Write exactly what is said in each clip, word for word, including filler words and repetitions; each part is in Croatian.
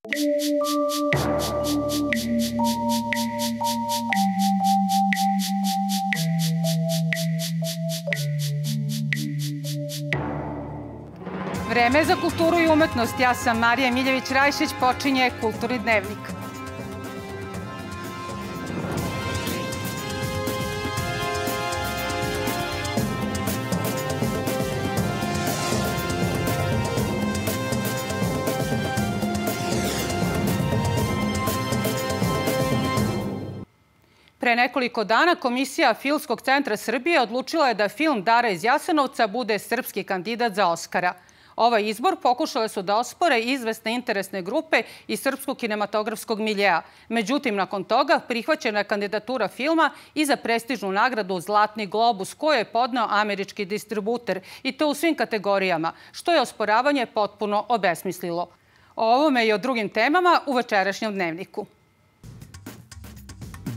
Vreme za kulturu i umetnost. Ja sam Marija Miljević-Rajšić, počinje Kulturni dnevnik. Pre nekoliko dana Komisija Filmskog centra Srbije odlučila je da film Dara iz Jasenovca bude srpski kandidat za Oskara. Ovaj izbor pokušale su da ospore izvesne interesne grupe iz srpskog kinematografskog miljea. Međutim, nakon toga prihvaćena je kandidatura filma i za prestižnu nagradu Zlatni globus koju je podneo američki distributer i to u svim kategorijama, što je osporavanje potpuno obesmislilo. O ovome i o drugim temama u večerašnjem dnevniku.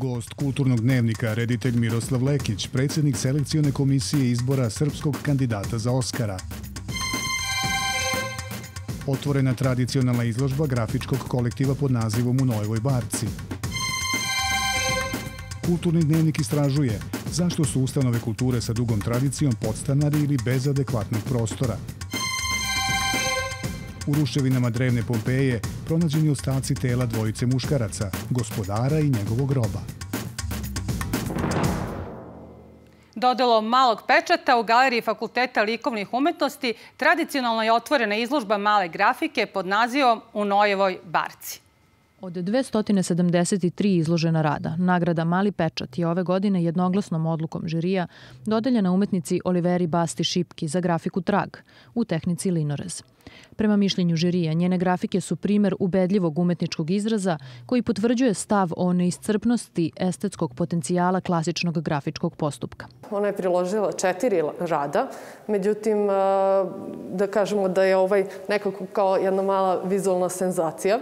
Gost Kulturnog dnevnika, reditelj Miroslav Lekić, predsjednik selekcione komisije izbora srpskog kandidata za Oskara. Otvorena tradicionalna izložba grafičkog kolektiva pod nazivom U Nojevoj barci. Kulturni dnevnik istražuje zašto su ustanove kulture sa dugom tradicijom podstanari ili bez adekvatnog prostora. U ruševinama drevne Pompeje pronađeni ostaci tela dvojice muškaraca, gospodara i njegovog roba. Dodelo malog pečata u Galeriji Fakulteta likovnih umetnosti tradicionalno je otvorena izložba male grafike pod nazivom U Nojevoj barci. Od dvesta sedamdeset tri izložena rada, nagrada Mali pečat je ove godine jednoglasnom odlukom žirija dodeljena umetnici Oliveri Basti Šipki za grafiku Trag u tehnici linorez. Prema mišljenju žirija, njene grafike su primer ubedljivog umetničkog izraza koji potvrđuje stav o neiscrpnosti estetskog potencijala klasičnog grafičkog postupka. Ona je priložila četiri rada, međutim, da kažemo da je ovaj nekako kao jedna mala vizualna senzacija.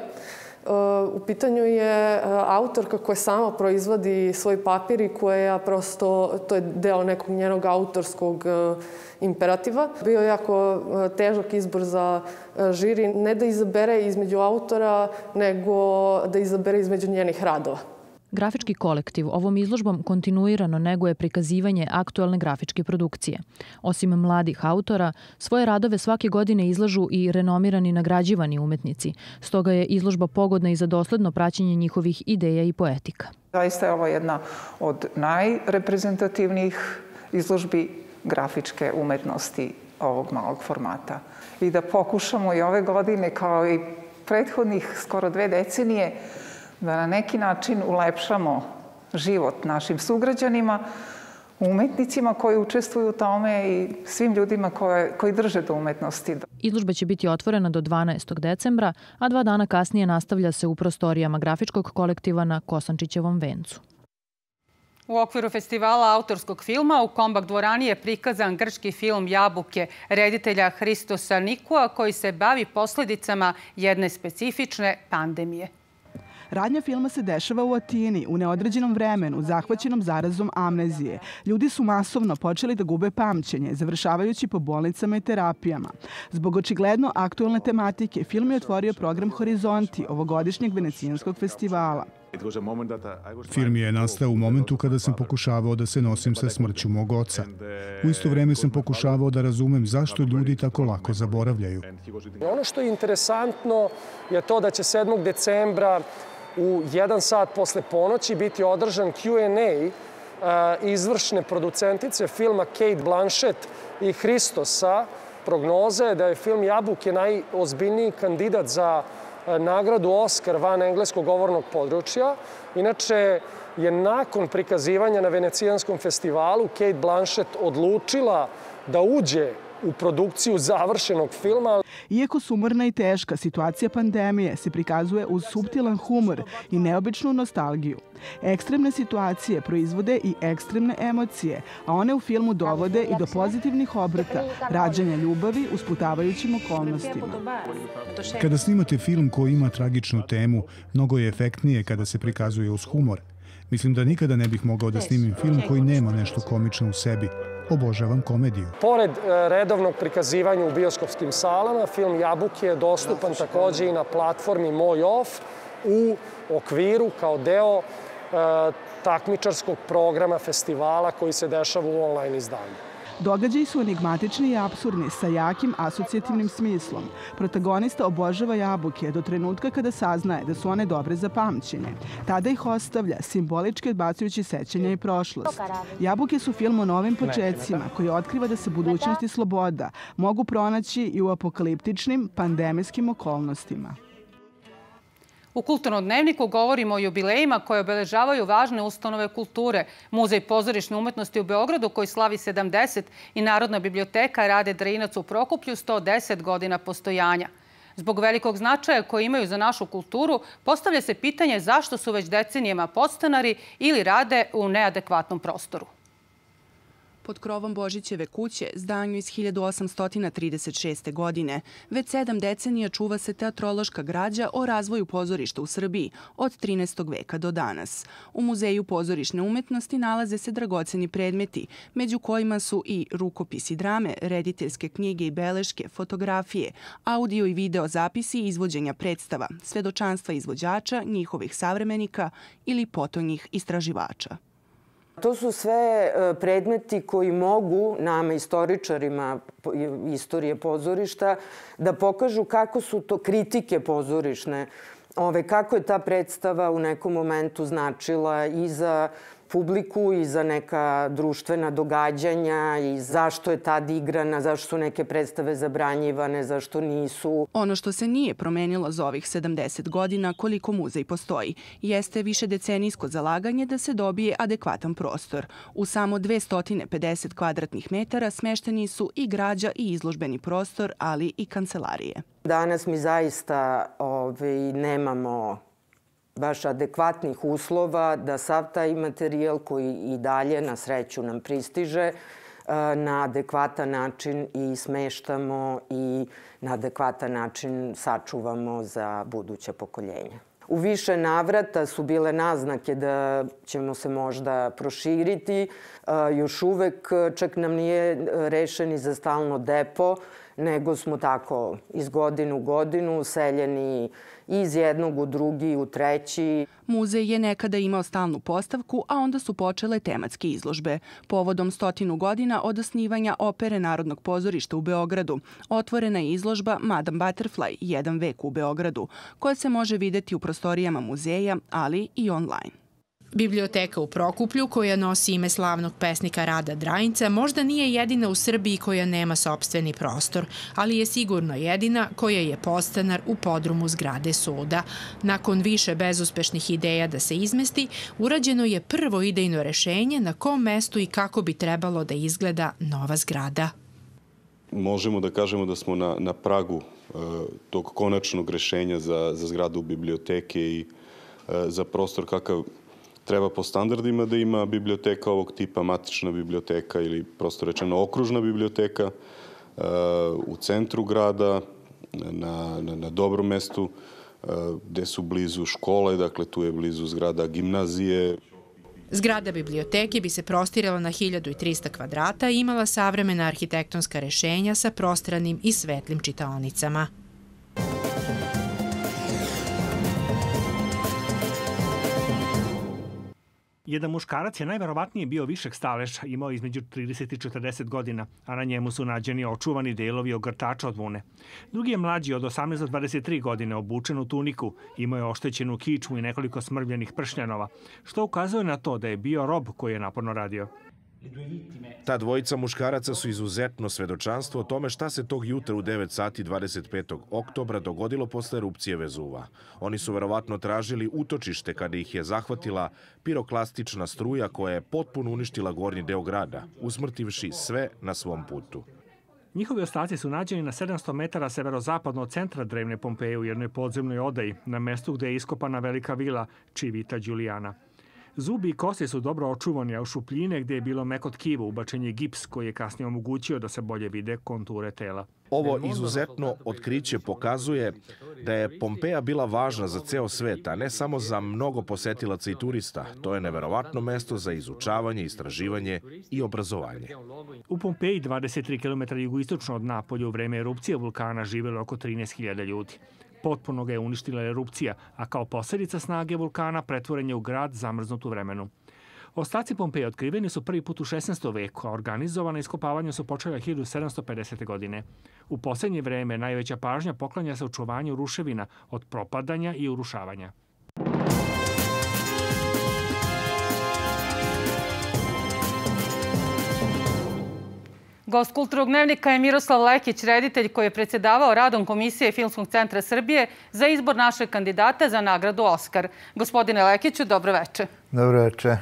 U pitanju je autorka koja sama proizvodi svoj papir i koja prosto, to je deo nekog njenog autorskog imperativa. Bio je jako težak izbor za žiri, ne da izabere između autora, nego da izabere između njenih radova. Grafički kolektiv ovom izložbom kontinuirano neguje prikazivanje aktualne grafičke produkcije. Osim mladih autora, svoje radove svake godine izlažu i renomirani nagrađivani umetnici. Stoga je izložba pogodna i za dosledno praćenje njihovih ideja i poetika. Zaista je ovo jedna od najreprezentativnijih izložbi grafičke umetnosti ovog malog formata. I da pokušamo i ove godine, kao i prethodnih skoro dve decenije, da na neki način ulepšamo život našim sugrađanima, umetnicima koji učestvuju u tome i svim ljudima koje, koji drže do umetnosti. Izložba će biti otvorena do dvanaestog decembra, a dva dana kasnije nastavlja se u prostorijama grafičkog kolektiva na Kosančićevom vencu. U okviru festivala autorskog filma u Kombak dvorani je prikazan grčki film Jabuke reditelja Hristosa Nikua koji se bavi posljedicama jedne specifične pandemije. Radnja filma se dešava u Atini, u neodređenom vremenu, zahvaćenom zarazom amnezije. Ljudi su masovno počeli da gube pamćenje, završavajući po bolnicama i terapijama. Zbog očigledno aktualne tematike, film je otvorio program Horizonti, ovogodišnjeg venecijanskog festivala. Film je nastao u momentu kada sam pokušavao da se nosim sa smrću mog oca. U isto vreme sam pokušavao da razumem zašto ljudi tako lako zaboravljaju. Ono što je interesantno je to da će sedmog decembra u jedan sat posle ponoći biti održan Q and A izvršne producentice filma Kate Blanchett i Hristosa. Prognoza je da je film Jabuke najozbiljniji kandidat za nagradu Oskar van engleskog govornog područja. Inače je nakon prikazivanja na Venecijanskom festivalu Kate Blanchett odlučila da uđe u produkciju završenog filma. Iako sumorna i teška, situacija pandemije se prikazuje uz suptilan humor i neobičnu nostalgiju. Ekstremne situacije proizvode i ekstremne emocije, a one u filmu dovode i do pozitivnih obrata, rađanja ljubavi u sputavajućim okolnostima. Kada snimate film koji ima tragičnu temu, mnogo je efektnije kada se prikazuje uz humor. Mislim da nikada ne bih mogao da snimim film koji nema nešto komično u sebi. Obožavam komediju. Pored redovnog prikazivanja u bioskopskim salama, film Jabuke je dostupan takođe i na platformi Moj Off u okviru kao deo e, takmičarskog programa festivala koji se dešava u online izdanju. Događaji su enigmatični i apsurdni, sa jakim asocijativnim smislom. Protagonista obožava jabuke do trenutka kada saznaje da su one dobre za pamćenje. Tada ih ostavlja, simbolički odbacujući sećanja i prošlost. Jabuke su film o novim počecima koji otkriva da se budućnost i sloboda mogu pronaći i u apokaliptičnim pandemijskim okolnostima. U Kulturnom dnevniku govorimo o jubilejima koje obeležavaju važne ustanove kulture. Muzej pozorišne umetnosti u Beogradu koji slavi sedamdeset i Narodna biblioteka Rade Drinac u Prokuplju sto deset godina postojanja. Zbog velikog značaja koji imaju za našu kulturu, postavlja se pitanje zašto su već decenijama podstanari ili rade u neadekvatnom prostoru. Pod krovom Božićeve kuće, zdanju iz hiljadu osamsto trideset šeste. godine, već sedam decenija čuva se teatrološka građa o razvoju pozorišta u Srbiji od trinaestog veka do danas. U Muzeju pozorišne umetnosti nalaze se dragoceni predmeti, među kojima su i rukopisi drame, rediteljske knjige i beleške, fotografije, audio i video zapisi i izvođenja predstava, svedočanstva izvođača, njihovih savremenika ili potonjih istraživača. To su sve predmeti koji mogu nama, istoričarima istorije pozorišta, da pokažu kako su to kritike pozorišne, kako je ta predstava u nekom momentu značila i za publiku i za neka društvena događanja i zašto je tad igrana, zašto su neke predstave zabranjivane, zašto nisu. Ono što se nije promenilo za ovih sedamdeset godina koliko muzej postoji, jeste višedecenijsko zalaganje da se dobije adekvatan prostor. U samo dvesta pedeset kvadratnih metara smešteni su i građa i izložbeni prostor, ali i kancelarije. Danas mi zaista nemamo baš adekvatnih uslova da sav taj materijal koji i dalje na sreću nam pristiže na adekvatan način i smeštamo i na adekvatan način sačuvamo za buduća pokoljenja. U više navrata su bile naznake da ćemo se možda proširiti. Još uvek čak nam nije rešeni za stalno depo, nego smo tako iz godine u godinu seljeni iz jednog u drugi, u treći. Muzej je nekada imao stalnu postavku, a onda su počele tematske izložbe. Povodom stotinu godina od osnivanja Opere Narodnog pozorišta u Beogradu otvorena je izložba Madame Butterfly, jedan vek u Beogradu, koja se može videti u prostorijama muzeja, ali i online. Biblioteka u Prokuplju, koja nosi ime slavnog pesnika Rada Drajinca, možda nije jedina u Srbiji koja nema sopstveni prostor, ali je sigurno jedina koja je podstanar u podrumu zgrade suda. Nakon više bezuspešnih ideja da se izmesti, urađeno je prvo idejno rešenje na kom mestu i kako bi trebalo da izgleda nova zgrada. Možemo da kažemo da smo na, na pragu e, tog konačnog rešenja za, za zgradu biblioteke i e, za prostor kakav treba po standardima da ima biblioteka ovog tipa, matična biblioteka ili prosto rečeno okružna biblioteka u centru grada, na, na, na dobrom mestu, gde su blizu škole, dakle tu je blizu zgrada gimnazije. Zgrada biblioteke bi se prostirala na hiljadu trista kvadrata i imala savremena arhitektonska rešenja sa prostranim i svetlim čitaonicama. Jedan muškarac je najverovatnije bio višeg staleža, imao između trideset i četrdeset godina, a na njemu su nađeni očuvani delovi ogrtača od vune. Drugi je mlađi od osamnaest do dvadeset tri godine, obučen u tuniku, imao je oštećenu kičmu i nekoliko smrvljenih pršnjanova, što ukazuje na to da je bio rob koji je naporno radio. Ta dvojica muškaraca su izuzetno svedočanstvo o tome šta se tog jutra u devet sati dvadeset petog oktobra dogodilo posle erupcije Vezuva. Oni su verovatno tražili utočište kada ih je zahvatila piroklastična struja koja je potpuno uništila gornji deo grada, usmrtivši sve na svom putu. Njihovi ostaci su nađeni na sedamsto metara severozapadno od centra drevne Pompeje u jednoj podzemnoj odaji, na mestu gde je iskopana velika vila Civita Giuliana. Zubi i kosti su dobro očuvani, a u šupljine gde je bilo meko tkivo ubačen je gips koji je kasnije omogućio da se bolje vide konture tela. Ovo izuzetno otkriće pokazuje da je Pompeja bila važna za ceo svet, a ne samo za mnogo posetilaca i turista. To je neverovatno mesto za izučavanje, istraživanje i obrazovanje. U Pompeji, dvadeset tri kilometra jugoistočno od Napolja, u vreme erupcije vulkana živelo oko trinaest hiljada ljudi. Potpuno ga je uništila erupcija, a kao posljedica snage vulkana pretvoren je u grad zamrznut u vremenu. Ostaci Pompeje otkriveni su prvi put u šesnaestom veku, a organizovana iskopavanja su počela hiljadu sedamsto pedesete. godine. U posljednje vreme najveća pažnja poklanja se očuvanju ruševina od propadanja i urušavanja. Gost Kulturnog dnevnika je Miroslav Lekić, reditelj koji je predsjedavao radom Komisije Filmskog centra Srbije za izbor našeg kandidata za nagradu Oskar. Gospodine Lekiću, dobro večer. Dobro večer.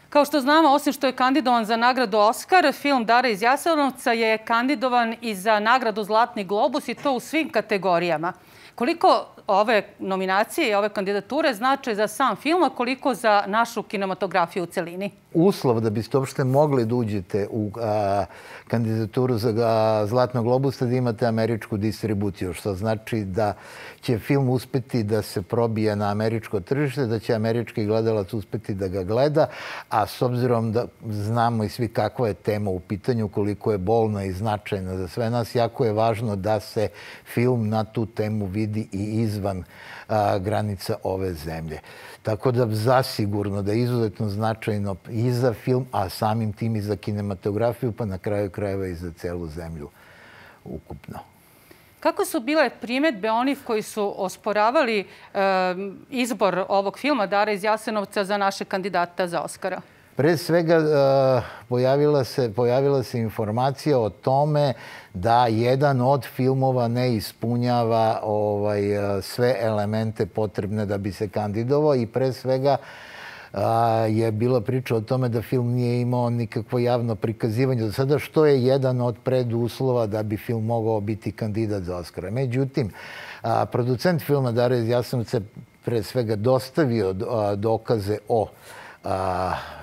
Kao što znamo, osim što je kandidovan za nagradu Oskar, film Dara iz Jasenovca je kandidovan i za nagradu Zlatni globus i to u svim kategorijama. Koliko ove nominacije i ove kandidature znače za sam film, a koliko za našu kinematografiju u celini? Uslov da biste uopšte mogli da uđete u a, kandidaturu za a, Zlatnog globusa da imate američku distribuciju, što znači da će film uspeti da se probije na američko tržište, da će američki gledalac uspeti da ga gleda, a s obzirom da znamo i svi kakva je tema u pitanju, koliko je bolna i značajna za sve nas, jako je važno da se film na tu temu vidi i izvan a, granica ove zemlje. Tako da zasigurno da je izuzetno značajno i za film, a samim tim i za kinematografiju, pa na kraju krajeva i za celu zemlju ukupno. Kako su bile primjedbe onih koji su osporavali e, izbor ovog filma Dara iz Jasenovca za naše kandidata za Oskara? Pre svega pojavila se, pojavila se informacija o tome da jedan od filmova ne ispunjava ovaj, sve elemente potrebne da bi se kandidovao i pre svega je bila priča o tome da film nije imao nikakvo javno prikazivanje do sada, što je jedan od preduslova da bi film mogao biti kandidat za Oskara. Međutim, producent filma Dara iz Jasenovca pre svega dostavio dokaze o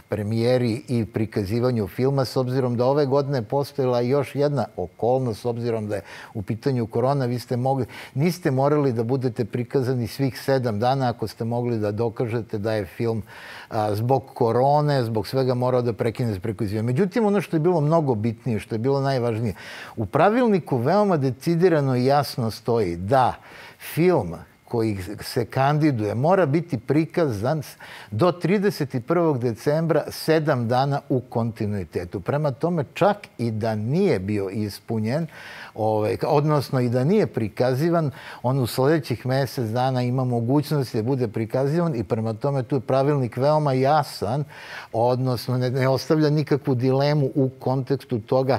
premijeri i prikazivanju filma, s obzirom da ove godine postojila još jedna okolnost, s obzirom da je u pitanju korona, vi ste mogli, niste morali da budete prikazani svih sedam dana ako ste mogli da dokažete da je film a, zbog korone, zbog svega morao da prekine s prikazivanjem. Međutim, ono što je bilo mnogo bitnije, što je bilo najvažnije, u pravilniku veoma decidirano i jasno stoji da film koji se kandiduje mora biti prikazan do trideset prvog decembra sedam dana u kontinuitetu. Prema tome, čak i da nije bio ispunjen, ovaj, odnosno i da nije prikazivan, on u sljedećih mjesec dana ima mogućnost da bude prikazivan i prema tome tu je pravilnik veoma jasan, odnosno ne, ne ostavlja nikakvu dilemu u kontekstu toga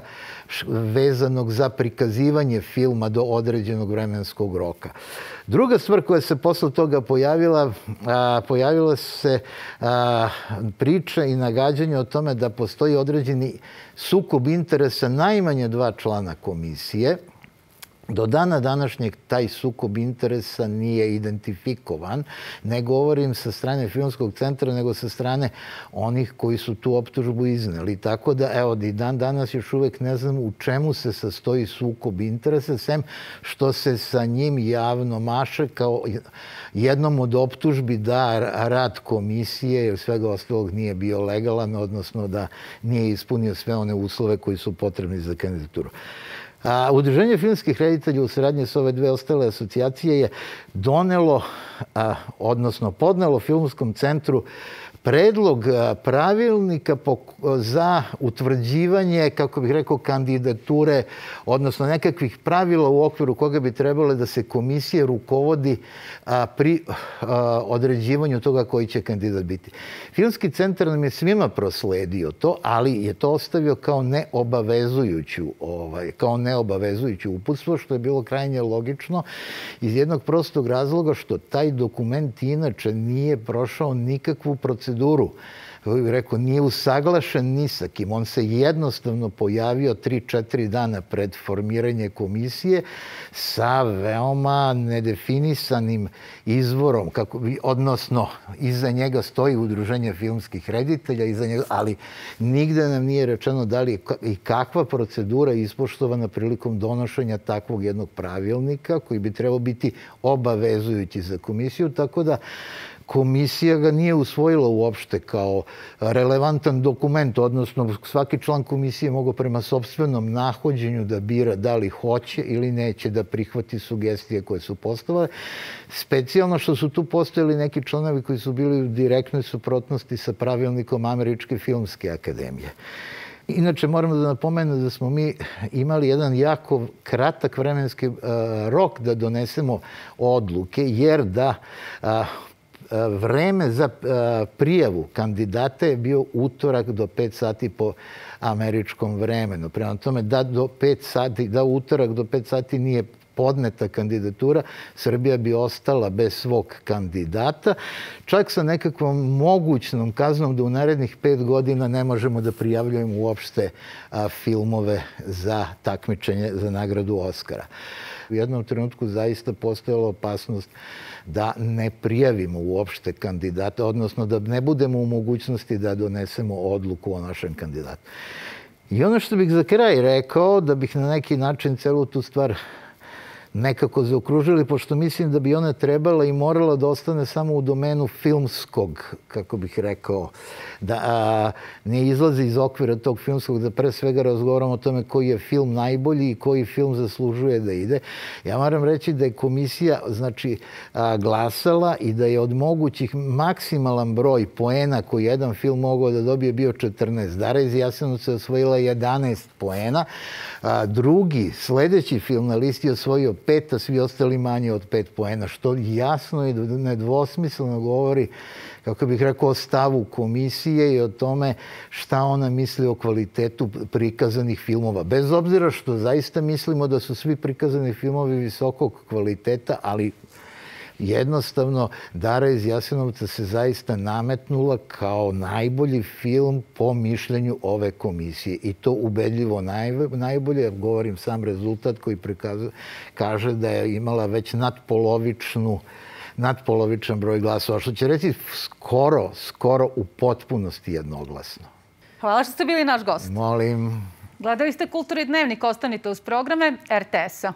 vezanog za prikazivanje filma do određenog vremenskog roka. Druga stvar koja se posle toga pojavila, a, pojavila se a, priča i nagađanje o tome da postoji određeni sukob interesa najmanje dva člana komisije. Do dana današnjeg taj sukob interesa nije identifikovan. Ne govorim sa strane Filmskog centra, nego sa strane onih koji su tu optužbu izneli. Tako da, evo, i dan danas još uvijek ne znam u čemu se sastoji sukob interesa, sem što se sa njim javno maše kao jednom od optužbi da rad komisije, jer svega ostalog nije bio legalan, odnosno da nije ispunio sve one uslove koji su potrebni za kandidaturu. A, Udruženje filmskih reditelja u saradnji s ove dve ostale asocijacije je donelo, a, odnosno podnelo Filmskom centru predlog pravilnika za utvrđivanje, kako bih rekao, kandidature, odnosno nekakvih pravila u okviru koga bi trebalo da se komisija rukovodi pri određivanju toga koji će kandidat biti. Filmski centar nam je svima prosledio to, ali je to ostavio kao neobavezujuću, ovaj, kao neobavezujuću uputstvo, što je bilo krajnje logično iz jednog prostog razloga što taj dokument inače nije prošao nikakvu proceduru kako bih rekao, nije usaglašen ni sa kim. On se jednostavno pojavio tri četiri dana pred formiranje komisije sa veoma nedefinisanim izvorom, kako bi, odnosno iza njega stoji Udruženje filmskih reditelja, iza njega, ali nigde nam nije rečeno da li i kakva procedura je ispoštovana prilikom donošenja takvog jednog pravilnika koji bi trebao biti obavezujući za komisiju, tako da komisija ga nije usvojila uopšte kao relevantan dokument, odnosno svaki član komisije mogao prema sopstvenom nahođenju da bira da li hoće ili neće da prihvati sugestije koje su postavile. Specijalno što su tu postojali neki članovi koji su bili u direktnoj suprotnosti sa pravilnikom Američke filmske akademije. Inače, moramo da napomenem da smo mi imali jedan jako kratak vremenski rok da donesemo odluke, jer da vreme za prijavu kandidata je bio utorak do pet sati po američkom vremenu. Prema tome, da do pet sati, da utorak do pet sati nije podneta kandidatura, Srbija bi ostala bez svog kandidata, čak sa nekakvom mogućnom kaznom da u narednih pet godina ne možemo da prijavljujemo uopšte filmove za takmičenje za nagradu Oskara. U jednom trenutku zaista postojala opasnost da ne prijavimo uopšte kandidata, odnosno da ne budemo u mogućnosti da donesemo odluku o našem kandidatu. I ono što bih za kraj rekao, da bih na neki način celu tu stvar nekako zaokružili, pošto mislim da bi ona trebala i morala da ostane samo u domenu filmskog, kako bih rekao, da ne izlazi iz okvira tog filmskog, da pre svega razgovaramo o tome koji je film najbolji i koji film zaslužuje da ide. Ja moram reći da je komisija, znači, glasala i da je od mogućih maksimalan broj poena koji jedan film mogao da dobije bio četrnaest. Dara iz Jasenovca je osvojila jedanaest poena. Drugi, sledeći film na listi je osvojio pet, a svi ostali manje od pet poena, što jasno i nedvosmisleno govori, kako bih rekao, o stavu komisije i o tome šta ona misli o kvalitetu prikazanih filmova. Bez obzira što zaista mislimo da su svi prikazani filmovi visokog kvaliteta, ali jednostavno Dara iz Jasenovca se zaista nametnula kao najbolji film po mišljenju ove komisije. I to ubedljivo najbolje. Govorim sam rezultat koji kaže da je imala već nadpolovičnu nadpolovičan broj glasova, što će reći skoro, skoro u potpunosti jednoglasno. Hvala što ste bili naš gost. Molim. Gledali ste Kulturni dnevnik, ostanite uz programe R T S-a.